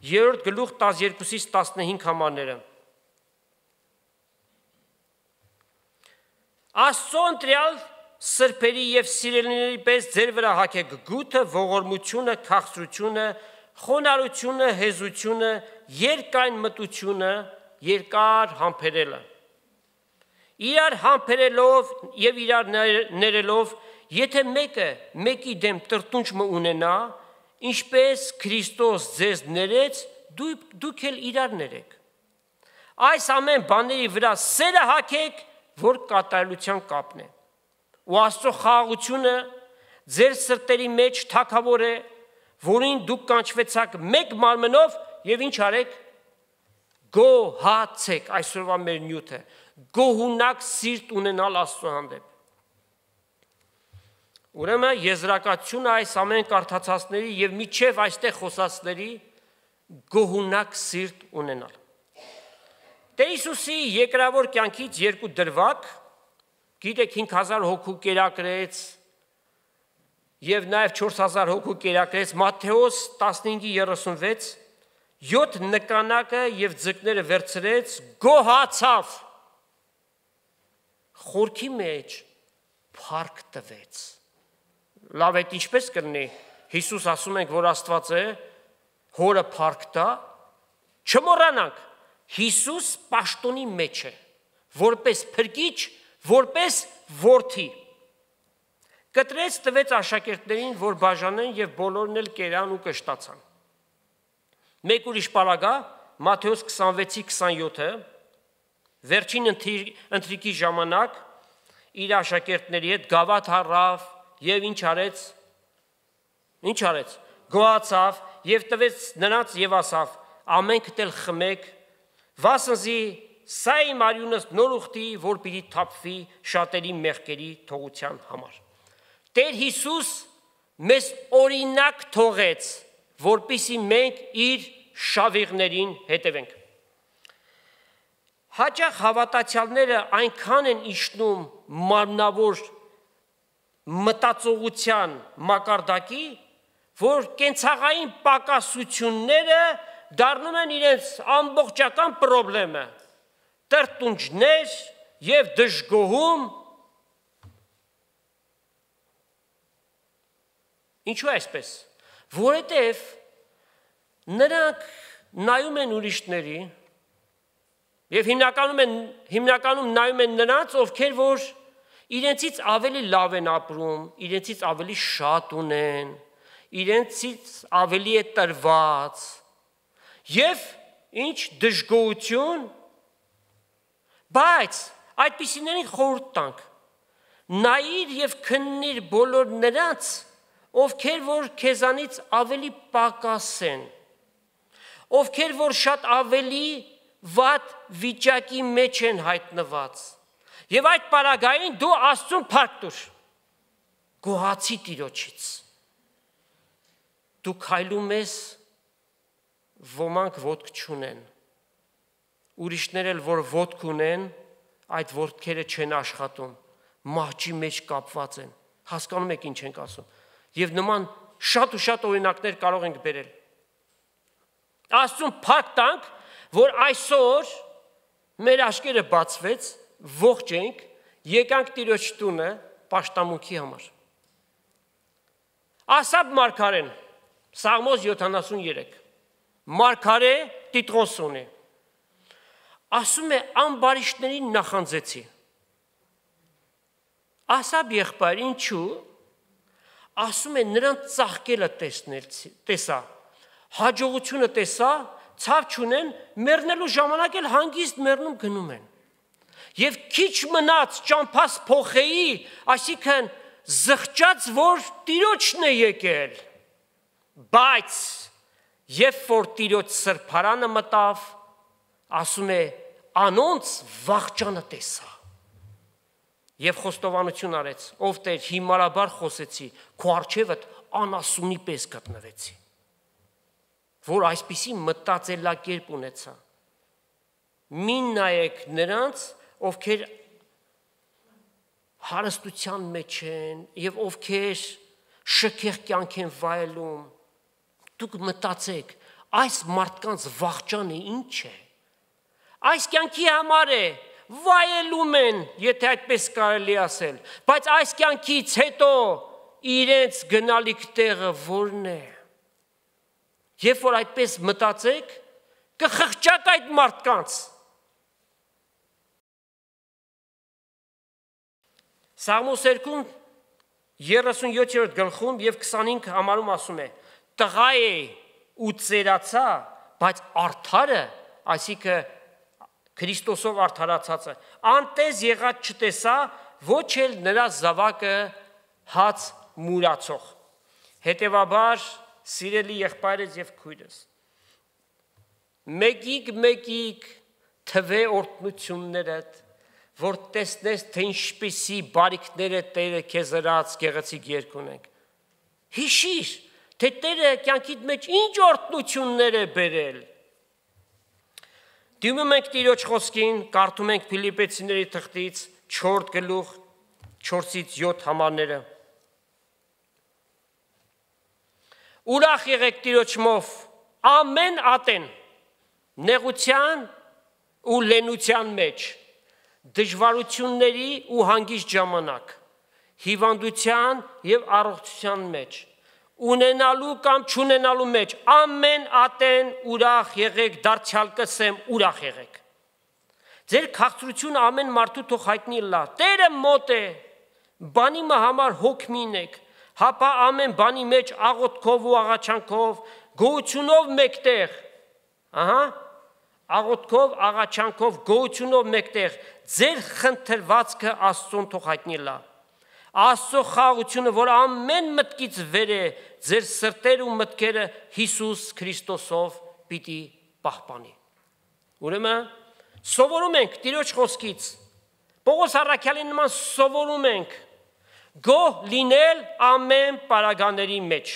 3-րդ գլուխ 12-ից 15 համարները։ Աստծո ընտրյալ սրբերի եւ սիրելիների պես ձեր վրա հագեք գութը, ողորմությունը, քաղցրությունը, խոնարհությունը, հեզությունը, երկայն մտությունը, երկար համբերելը։ Իրար համբերելով եւ իրար ներելով, եթե մեկը մեկի դեմ տրտունջ ունենա, ինչպես Քրիստոս ձեզ ներեց, դուք էլ իրար ներեք։ Այս ամեն բաների վրա սերը հագեք, որ կատարելության կապն է։ Ու Աստծո խաղաղությունը ձեր սրտերի մեջ թագավոր է, որին դուք կանչվեցաք մեկ մարմնով եւ ինչ արեք, գոհացեք, այսօրվա մեր նյութը, գոհունակ սիրտ ունենալ Աստծո հանդեպ։ Ուրեմն եզրակացությունը այս ամեն կարդացածների եւ միջև այստեղ խոսածների գոհունակ սիրտ ունենալ։ Տեր Հիսուսի երկրավոր կյանքից երկու դրվագ, գիտեք 5000 հոգու կերակրեց եւ նաեւ 4000 հոգու կերակրեց, Մատթեոս 15:36, 7 նկանակը եւ ձկները վերցրեց, գոհացավ, խորքի մեջ փառք տվեց։ Լավ է, ինչպես կլինի, Հիսուս ասում ենք, որ Աստված է, հորը փառք տա, չմոռանանք, Հիսուս պաշտոնի մեջ է, որպես փրկիչ, որպես որդի։ Կտրեց տվեց աշակերտներին, որ բաժանեն եւ բոլորն էլ կերան ու կշտացան։ Մեկ ուրիշ պարագա, Մատթեոս 26:27-ը, վերջին ընթրիքի ժամանակ իր աշակերտների հետ գավաթ առավ եւ ինչ արեց, գոհացավ եւ տվեց նրանց եւ ասավ. ամենքդ էլ խմեք, վասնզի սա իմ արյունս նոր ուխտի, որ պիտի թափվի շատերի մեղքերի թողության համար։ Տեր Հիսուս մեզ օրինակ թողեց, որպեսզի մենք իր շավիղներին հետևենք։ Հաճախ հավատացյալները այնքան են իջնում մարմնավոր մտածողության մակարդակի, որ կենցաղային պակասությունները դառնում են իրենց ամբողջական պրոբլեմը, տրտունջներ եւ դժգոհում։ Ինչու այսպես, որովհետև նրանք նայում են ուրիշների եւ հիմնականում նայում են նրանց, ովքեր որ իրենցից ավելի լավ են ապրում, իրենցից ավելի շատ ունեն, իրենցից ավելի է տրված եւ ինչ դժգոհություն, բայց այդպիսիներին խորհուրդ տանք, նայիր եւ քննիր բոլոր նրանց, ովքեր որ քեզանից ավելի պակաս են, ովքեր որ շատ ավելի վատ վիճակի մեջ են հայտնված, եւ այդ պարագային դու Աստծուն փառք տուր, գոհացի Տիրոջից։ Դու քայլում ես, ոմանք ոտք չունեն, ուրիշներ էլ որ ոտք ունեն, այդ ոտքերը չեն աշխատում, մահճի մեջ կապված են, հասկանում եք ինչ ենք ասում, եւ նման շատ ու շատ օրինակներ կարող ենք բերել։ Աստծուն փառք տանք, որ այսօր մեր աչքերը բացվեց, ողջ ենք, եկանք Տիրոջ տունը պաշտամունքի համար։ Ասապ մարգարեն, Սաղմոս 73, մարգարե Տիտրոսոն է, ասում է ամբարիշներին նախանձեցի։ Ասապ եղբայր, ինչու, ասում է նրանց ծաղկելը տեսա, հաջողությունը տեսա, ցավ չունեն, մեռնելու ժամանակ էլ հանգիստ մեռնում գնում են։ Եվ քիչ մնաց ճամփաս փոխեի, այսինքն զղջաց, որ Տիրոջն է եկել, բայց երբ որ Տիրոջ սրբարանը մտավ, ասում է անոնց վախճանը տեսա եւ խոստովանություն արեց, ով Տեր հիմարաբար խոսեցի, քո առջևդ անասունի պես գտնվեցի, որ այսպիսի մտածելակերպ ունեցա։ Մի նայեք նրանց, ովքեր հարստության մեջ են եւ ովքեր շքեղ կյանք են վայելում, դուք մտածեք, այս մարդկանց վախճանը ինչ է։ Այս կյանքի համար է, վայելում են, եթե այդպես կարելի ասել, բայց այս կյանքից հետո իրենց գնալիք տեղը որն է։ Երբ որ այդպես մտածեք, կխղճաք այդ մարդկանց։ Սաղմոս 37-րդ գլխում եւ 25 համարում ասում է. տղա է ու ծերացա, բայց արդարը, այսինքն Քրիստոսով արդարացածը, անտես եղած չտեսա, ոչ էլ նրա զավակը հաց մուրացող։ Հետևաբար, սիրելի եղբայրս եւ քույրս, մեկիկ թվե օրհնություններդ, որ տեսնես, թե ինչպիսի բարիքներ է Տերը քեզ հրած գեղեցիկ երգ ունենք։ Հիշիր, թե Տերը կյանքիդ մեջ ինչ օրհնություններ է բերել։ Դիմում ենք Տիրոջ խոսքին, կարդում ենք Փիլիպպեցիների թղթից 4 գլուխ 4-ից 7 համարները։ Ուրախ եղեք Տիրոջմով ամեն ատեն, նեղության ու լենության մեջ, դժվարությունների ու հանգիստ ժամանակ, հիվանդության և առողջության մեջ, ունենալու կամ չունենալու մեջ, ամեն ատեն ուրախ եղեք, դարձյալ կսեմ ուրախ եղեք։ Ձեր քաղցրությունը ամեն մարդու թող հայտնի լա, Տերը մոտ է, բանի համար հոգ մի ունեք, հապա ամեն բանի մեջ աղոթքով ու աղաչանքով, գոհությունով մեկտեղ, աղոթքով, աղաչանքով, գոհությունով մեկտեղ, ձեր խնդրվածքը Աստծուն թող հայտնի լա։ Աստծո խաղաղությունը, որ ամեն մտքից վեր է, ձեր սրտերը ու մտքերը Հիսուս Քրիստոսով պիտի պահպանի։ Ուրեմն սովորում ենք Տիրոջ խոսքից, Պողոս առաքյալի նման սովորում ենք գոհ լինել ամեն պարագաների մեջ։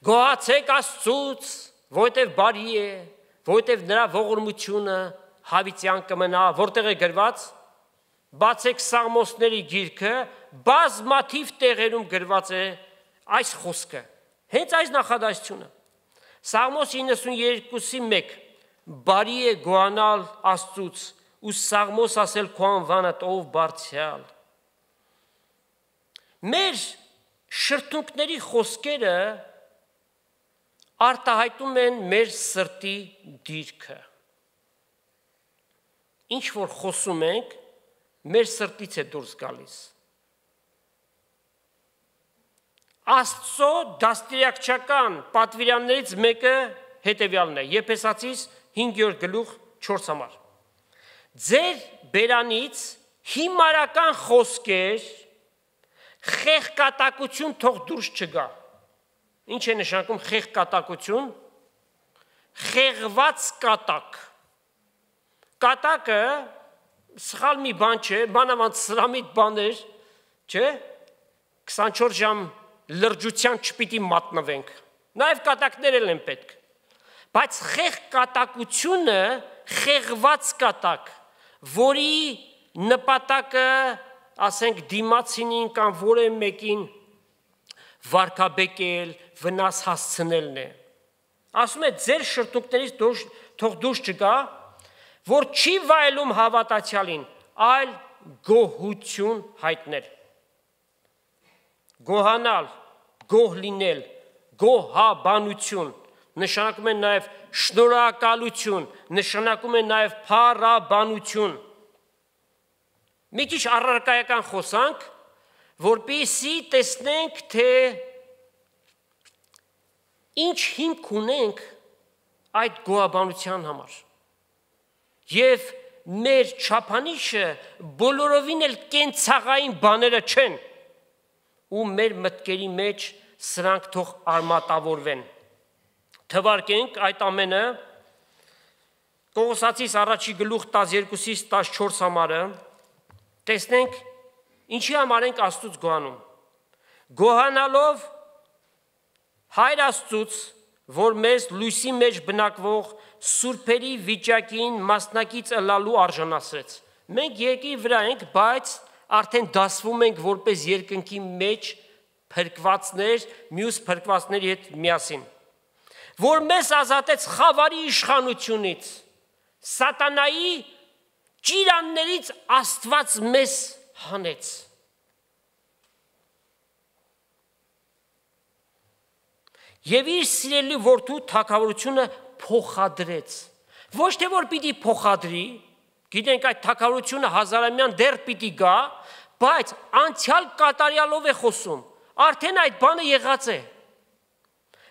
Գոհացեք Աստծուց, որովհետև բարի է, որովհետև նրա ողորմությունը հավիտյան կմնա, որտեղ է գրված, բացեք Սաղմոսների գիրքը, բազմաթիվ տեղերում գրված է այս խոսքը, հենց այս նախադասությունը։ Սաղմոս 92:1 բարի է գոհանալ Աստծուց ու Սաղմոս ասել քո անվանը ով բարձրյալ։ Մեր շրթունքների խոսքերը արտահայտում են մեր սրտի դիրքը։ Ինչ որ խոսում ենք, մեր սրտից է դուրս գալիս։ Աստծո դաստիարակչական պատվիրաններից մեկը հետևյալն է, Եփեսացիս 5 գլուխ 4 համար։ Ձեր բերանից հիմարական խոսքեր, խեղկատակություն թող դուրս չգա։ Ինչ է նշանակում խեղկատակություն։ Խեղված կատակ։ Կատակը սխալ մի բան չէ, բանավանդ սրամիտ բաներ, չէ, 24 ժամ լրջության չպիտի մատնվենք, նաև կատակներ են պետք, բայց խեղկատակությունը խեղված կատակ, որի նպատակը, ասենք դիմացինին կամ որևէ մեկին վարկաբեկել, վնաս հասցնելն է։ Ասում է ձեր շրթունքներից թող դուրս չգա, որ չի վայելում հավատացյալին, այլ գոհություն հայտնել։ Գոհանալ, գոհ լինել, գոհաբանություն, նշանակում է նաև շնորհակալություն, նշանակում է նաև փառաբանություն։ Մի քիչ առարկայական խոսանք, որպեսզի տեսնենք, թե ինչ հիմք ունենք այդ գոհաբանության համար։ Եվ մեր չափանիշը բոլորովին էլ կենցաղային բաները չեն, ու մեր մտքերի մեջ սրանք թող արմատավորվեն։ Թվարկենք այդ ամենը Կողոսացիս առաջի գլուխ 12-ից 14 համարը, տեսնենք ինչի համար ենք Աստծուց գոհանում։ Գոհանալով Հայր Աստծուց, որ մեզ լույսի մեջ բնակվող սուրբերի վիճակին մասնակից ըլլալու արժանացրեց։ Մենք երկրի վրա ենք, բայց արդեն դասվում ենք որպես երկնքի մեջ փրկվածներ, մյուս փրկվածների հետ միասին, որ մեզ ազատեց խավարի իշխանությունից, սատանայի ճիրաններից Աստված մեզ հանեց։ Եվ իր սիրելի որդու թագավորությունը փոխադրեց։ Ոչ թե որ պիտի փոխադրի, գիտենք այդ թագավորությունը հազարամյան դեռ պիտի գա, բայց անցյալ կատարյալով է խոսում, արդեն այդ բանը եղած է,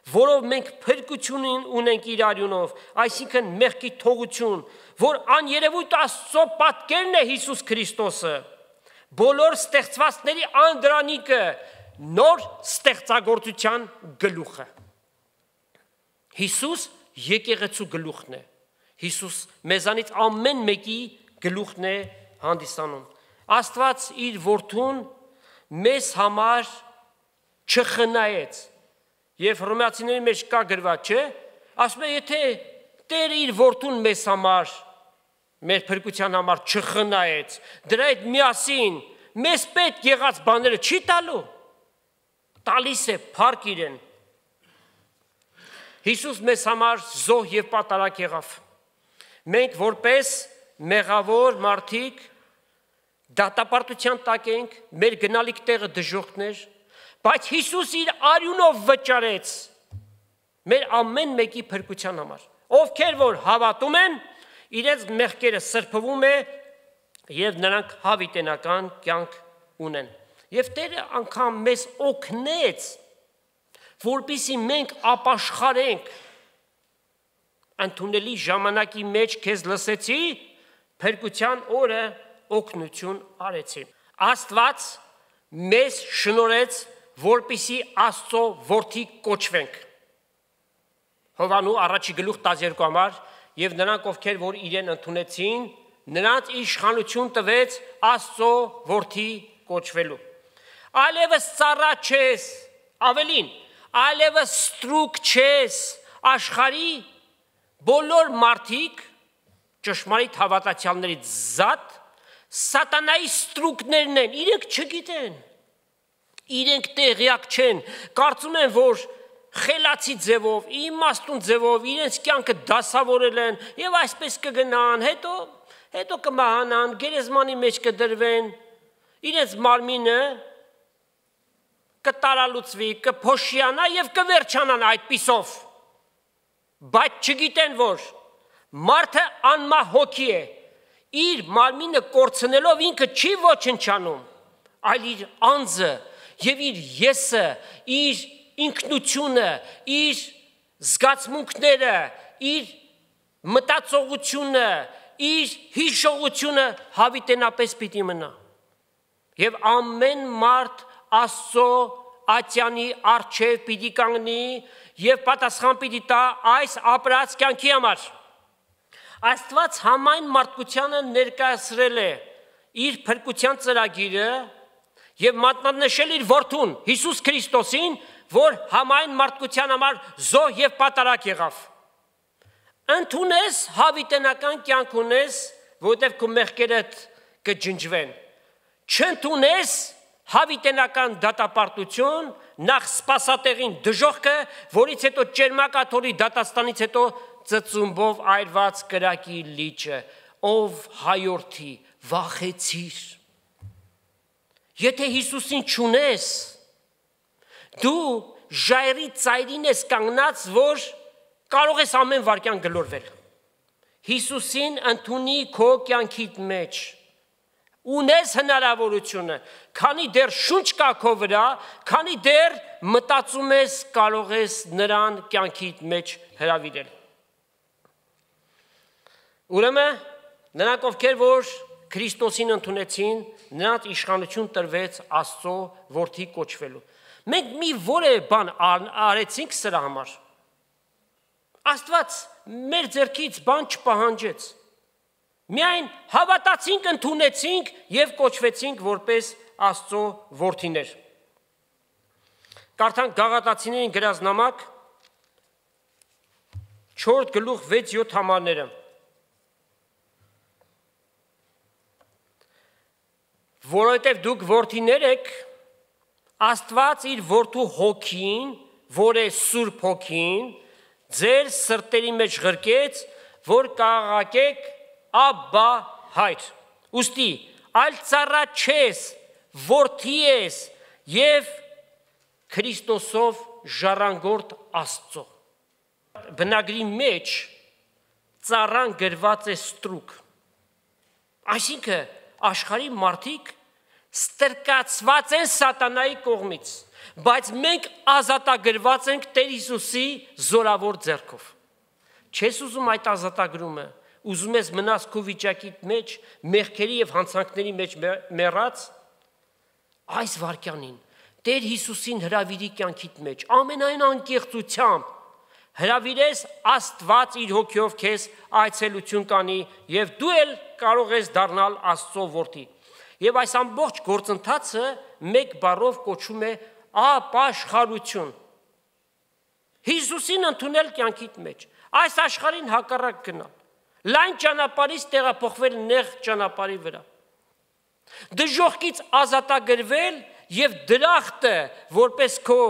որով մենք փրկություն ունենք իր արյունով, այսինքն մեղքի թողություն, որ աներևույթ Աստծո պատկերն է Հիսուս Քրիստոսը, բոլոր ստեղծվածների անդրանիկը, նոր ստեղծագործության գլուխը։ Հիսուս եկեղեցու գլուխն է։ Հիսուս մեզանից ամեն մեկի գլուխն է հանդիսանում։ Աստված իր որդուն մեզ համար չխնայեց։ Եվ Հռոմեացիների մեջ կա գրված, չէ՞, ասում է, եթե Տերը իր որդուն մեզ համար, մեր փրկության համար չխնայեց, դրա հետ միասին մեզ պետք եղած բաները չի տալու, տալիս է փառք իրեն։ Հիսուս մեզ համար զոհ եւ պատարագ եղավ։ Մենք որպես մեղավոր մարդիկ դատապարտության տակ ենք, մեր գնալիք տեղը դժոխքներ, բայց Հիսուս իր արյունով վճարեց մեր ամեն մեկի փրկության համար։ Ովքեր որ հավատում են, իրենց մեղքերը սրբվում է եւ նրանք հավիտենական կյանք ունեն։ Եվ Տերը անգամ մեզ օգնեց, որպեսզի մենք ապաշխարենք։ Ընդունելի ժամանակի մեջ քեզ լսեցի, փրկության օրը օգնություն արեցի։ Աստված մեզ շնորհեց, որպեսզի Աստծո որդի կոչվենք։ Հովանու առաջի գլուխ 12 համար եւ նրանք ովքեր որ իրեն ընդունեցին, նրանց իշխանություն տվեց Աստծո որդի կոչվելու։ Այլևս ծառա չես, ավելին, այլևս ստրուկ չես, աշխարհի բոլոր մարդիկ ճշմարիտ հավատացյալներից զատ սատանայի ստրուկներն են, իրենք չգիտեն, իրենք տեղյակ չեն, կարծում են, որ խելացի ձևով, իմաստուն ձևով իրենց կյանքը դասավորել են եւ այսպես կգնան, հետո կմահանան, գերեզմանի մեջ կդրվեն, իրենց մարմինը կտարալուծվի, կփոշիանա եւ կվերջանան այդպիսով։ Բայց չգիտեն, որ մարդը անմահ հոգի է, իր մարմինը կորցնելով ինքը չի ոչնչանում, այլ իր անձը եւ իր եսը, իր ինքնությունը, իր զգացմունքները, իր մտածողությունը, իր հիշողությունը հավիտենապես պիտի մնա։ Եվ ամեն մարդ Աստծո ատյանի առջև պիտի կանգնի եւ պատասխան պիտի տա այս ապրած կյանքի համար։ Աստված համայն մարդկությանը ներկայացրել է իր փրկության ծրագիրը եւ մատնանշել իր որդուն Հիսուս Քրիստոսին, որ համայն մարդկության համար զոհ եւ պատարագ եղավ։ Ընդունես հավիտենական կյանք ունես, որտեղ քո մեղքերդ կջնջվեն։ Չընդունես հավիտենական դատապարտություն, նախ սպասատեղին դժոխքը, որից հետո ճերմակաթորի դատաստանից հետո ծծումբով այրված կրակի լիճը, ով հայորդի, վախեցիր։ Եթե Հիսուսին չունես, դու ժայռի ծայրին ես կանգնած, որ կարող ես ամեն վարքյան գլորվել։ Հիսուսին ընդունի քո կյանքիդ մեջ, ունես հնարավորությունը, քանի դեռ շունչ կա քո վրա, քանի դեռ մտածում ես կարող ես նրան կյանքիդ մեջ հրավիրել։ Ուրեմն նրանք ովքեր որ Քրիստոսին ընդունեցին, նրանց իշխանություն տրվեց Աստծո որդի կոչվելու։ Մենք մի որևէ բան արեցինք սրա համար։ Աստված մեր ձեռքից բան չպահանջեց։ Միայն հավատացինք, ընդունեցինք եւ կոչվեցինք որպես Աստծո որդիներ։ Կարդանք Գաղատացիներին գրած նամակ 4 գլուխ 6-7 համարները։ Որովհետև դուք որդիներ եք, Աստված իր որդու հոգին, որ է Սուրբ հոգին, ձեր սրտերի մեջ ղրկեց, որ կաղաղակեք Աբբա հայր։ Ուստի այլ ծառա չես, որդի ես եւ Քրիստոսով ժառանգորդ Աստծո։ Բնագրի մեջ ծառան գրված է ստրուկ։ Այսինքն աշխարհի մարդիկ ստրկացված են սատանայի կողմից, բայց մենք ազատագրված ենք Տեր Հիսուսի զորավոր ձեռքով։ Չես ուզում այդ ազատագրումը, ուզում ես մնաս քո վիճակիդ մեջ, մեղքերի եւ հանցանքների մեջ մեռած, այս վարքյանին Տեր Հիսուսին հրավիրի կյանքիդ մեջ, ամենայն անկեղծությամբ հրավիրես Աստված իր հոգիով քեզ այցելություն կանի եւ դու էլ կարող ես դառնալ Աստծո որդի։ Եվ այս ամբողջ գործընթացը մեկ բառով կոչվում է ապաշխարություն։ Հիսուսին ընդունել կյանքիդ մեջ, այս աշխարհին հակառակ գնալ, լայն ճանապարհից տեղափոխվել նեղ ճանապարհի վրա, դժոխքից ազատագրվել եւ դրախտը որպես քո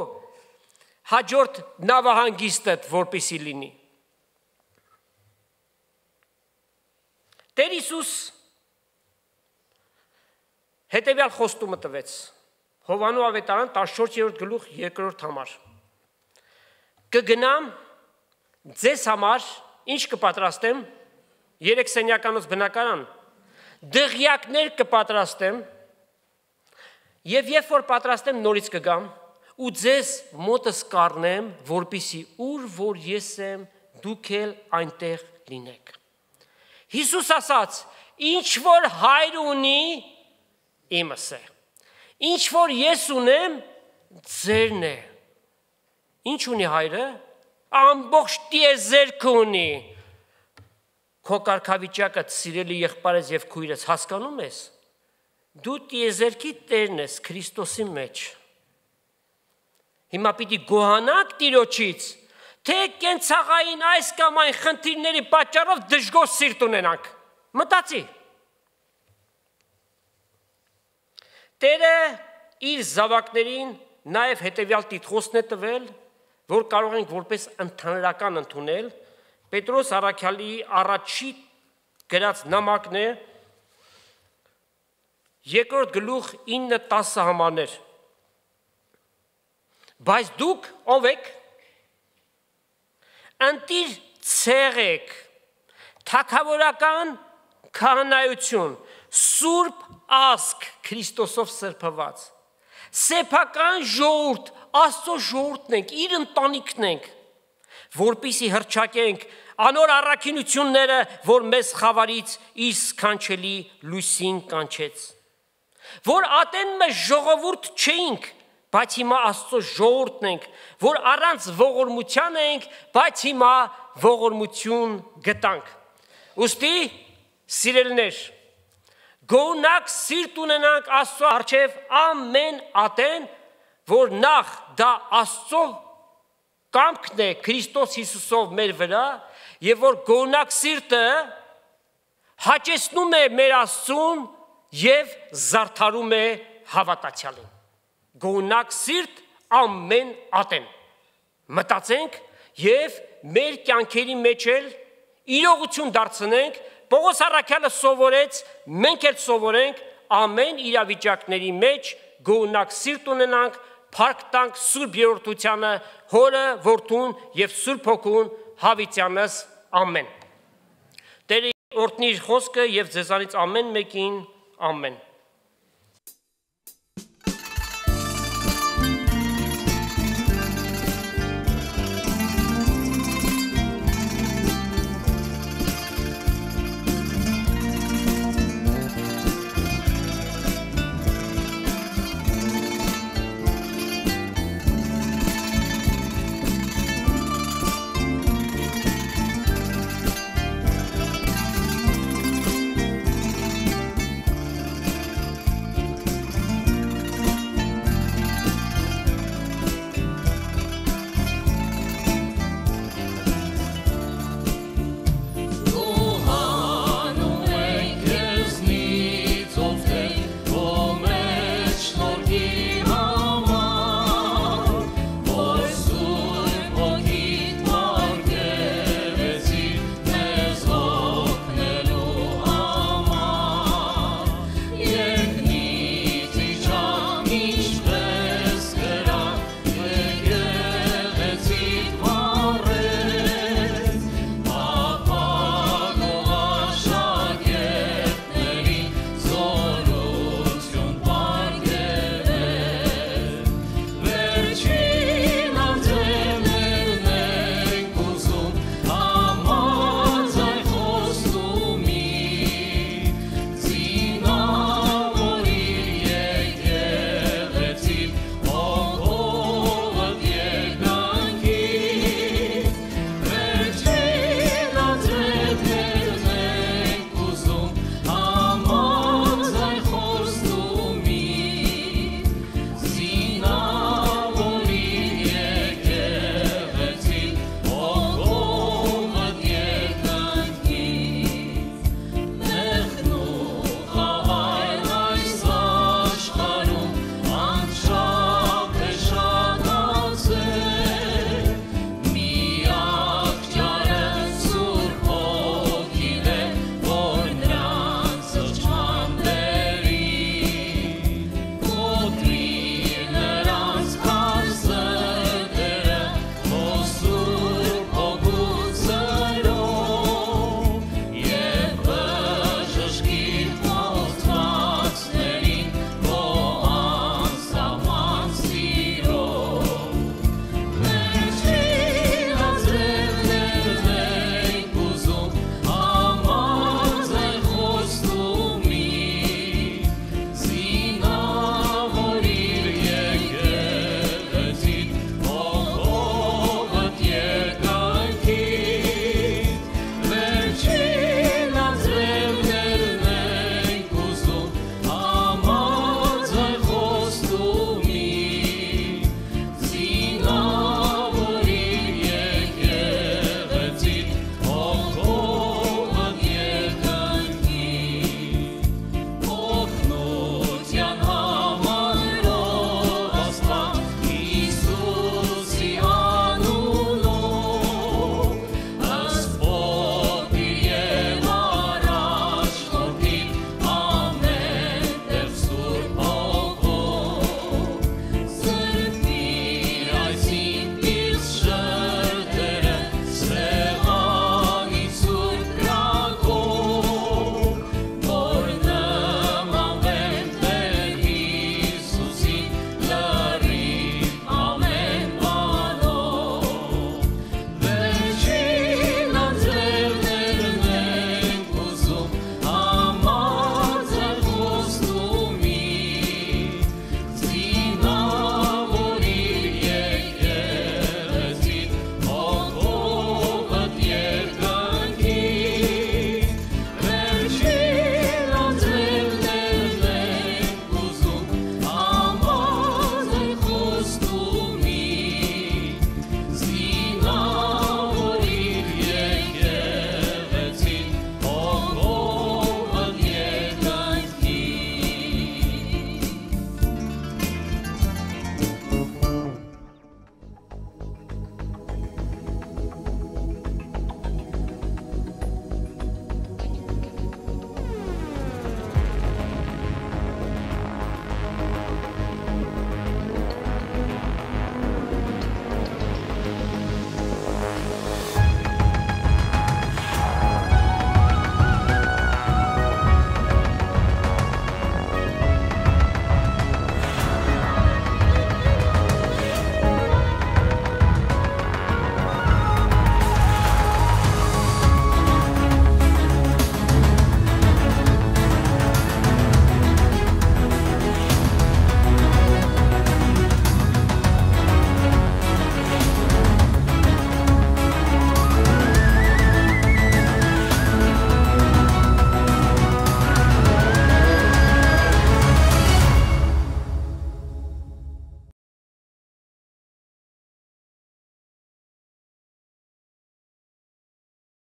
հաջորդ նավահանգիստդ որպեսի լինի։ Տեր Հիսուս հետևյալ խոստումը տվեց Հովանու ավետարան 14-րդ գլուխ 2-րդ համար։ Կգնամ ձեզ համար ինչ կպատրաստեմ, 3 սենյականոց բնակարան, դղյակներ կպատրաստեմ եւ երբ որ պատրաստեմ նորից կգամ ու ձեզ մոտս կառնեմ, որպեսի ուր որ ես եմ, դուք էլ այնտեղ լինեք։ Հիսուս ասաց. ինչ որ հայր ունի, իմս է։ Ինչ որ ես ունեմ, ձերն է։ Ինչ ունի հայրը? Ամբողջ տիեզերքը ունի։ Քո կարգավիճակը սիրելի եղբայրս եւ քույրս հասկանում ես։ Դու տիեզերքի տերն ես Քրիստոսի մեջ։ Հիմա պիտի գոհանանք Տիրոջից, թե կենցաղային այս կամ այն խնդիրների պատճառով դժգոհ սիրտ ունենանք։ Մտածի։ Տերը իր զավակներին նաև հետևյալ տիտղոսն է տվել, որ կարող ենք որպես ընդհանրական ընդունել, Պետրոս առաքյալի առաջի գրած նամակն է 2-րդ գլուխ 9-10 համարներ։ Բայց դուք ով եք, ընտիր ցեղեք, թագավորական քահանայություն, սուրբ ազգ Քրիստոսով սրբված, սեփական ժողովուրդ, Աստծո ժողովուրդն ենք, իր ընտանիքն ենք, որպեսզի հռչակենք անոր առաքինությունները, որ մեզ խավարից իր սքանչելի լույսին կանչեց, որ ատեն մեզ ժողովուրդ չէինք, բայց հիմա Աստծո ժողովուրդն ենք, որ առանց ողորմության ենք, բայց հիմա ողորմություն գտանք։ Ուստի, սիրելիներ, գոնակ սիրտ ունենանք Աստծո առջև ամեն ատեն, որ նախ դա Աստծո կամքն է Քրիստոս Հիսուսով մեր վրա, եւ որ գոնակ սիրտը հաճեցնում է մեր Աստծուն եւ զարդարում է հավատացյալին։ Գոնակ սիրտ ամեն ատեն։ Մտածենք եւ մեր կյանքերի մեջ էլ իրողություն դարձնենք, Պողոս առաքյալը սովորեց, մենք էլ սովորենք ամեն իրավիճակների մեջ գոնակ սիրտ ունենանք, փառք տանք Սուրբ Երրորդությանը, Հորը, Որդուն եւ Սուրբ Հոգուն, հավիտյանս ամեն։ Տերը օրհնի իր խոսքը եւ ձեզանից ամեն մեկին ամեն։